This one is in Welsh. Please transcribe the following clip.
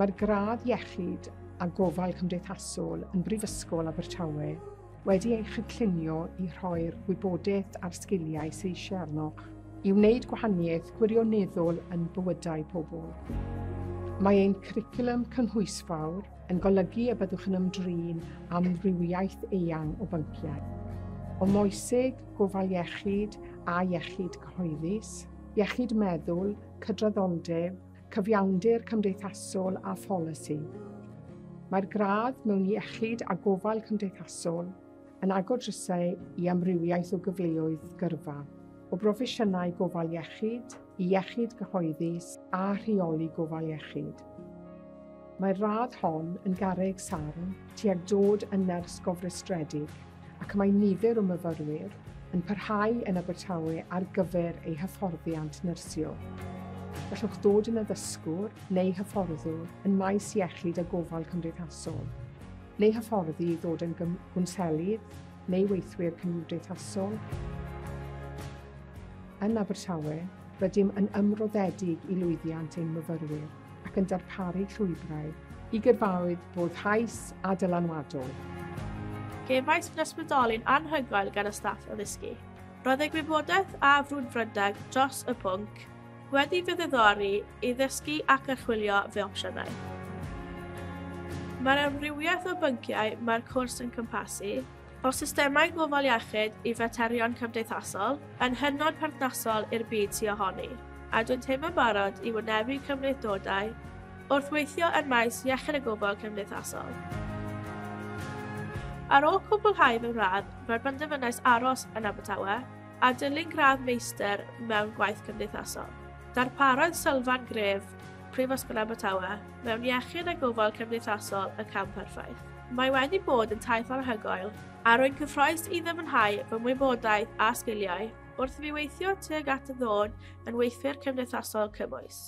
Mae'r gradd iechyd a gofal cymdeithasol yn Brifysgol Abertawe wedi ei chynllunio i rhoi'r wybodaeth a'r sgiliau sydd eisiau arnoch i wneud gwahaniaeth gwirioneddol yn bywydau pobl. Mae ein cwricwlwm cynhwysfawr yn golygu y byddwch yn ymdrin amrywiaeth eang o bynciau. O moeseg, gofal iechyd a iechyd cyhoeddus, iechyd meddwl, cydraddoldeb, cyfiawnder cymdeithasol a pholisi. Mae'r gradd mewn iechyd a gofal cymdeithasol yn agor drysau i amrywiaeth o gyfleoedd gyrfa, o broffesiynau gofal iechyd i iechyd gyhoeddus a rheoli gofal iechyd. Mae'r radd hon yn garreg sarn tuag dod yn nyrs gofrestredig ac mae nifer o myfyrwyr yn parhau yn Abertawe ar gyfer eu hyfforddiant nyrsio. Gallwch ddod yn addysgwr neu hyfforddwr yn maes iechyd a gofal cymdeithasol, neu hyfforddi i ddod yn gwnselydd neu weithwyr cymdeithasol. Yn Abertawe, rydym yn ymroddedig i lwyddiant ein myfyrwyr ac yn darparu llwybrau i gyrfaoedd boddhaus a dylanwadol. Cefais fy ysbrydoli'n anhygoel gan y staff addysgu. Roedd eu gwybodaeth a frwdfrydedd dros y pwnc wedi fy ddiddori i ddysgu ac archwilio fy opsiynau. Mae'r amrywiaeth o bynciau mae'r cwrs yn cwmpasu, o systemau gofal iechyd i faterion cymdeithasol, yn hynod perthnasol i'r byd sydd ohoni, a dwi'n teimlo'n barod i wynebu cymhlethdodau wrth weithio yn maes iechyd a gofal cymdeithasol. Ar ôl cwblhau fy ngradd, fe benderfynais aros yn Abertawe a dilyn gradd meistr mewn gwaith cymdeithasol. Darparodd sylfaen gref Prifysgol Abertawe mewn iechyd a gofal cymdeithasol y cam perffaith. Mae wedi bod yn taith anhygoel a rwy'n cyffrous i ddyfnhau fy ngwybodaeth a sgiliau wrth i fi weithio tuag at y ddod yn weithwyr cymdeithasol cymwys.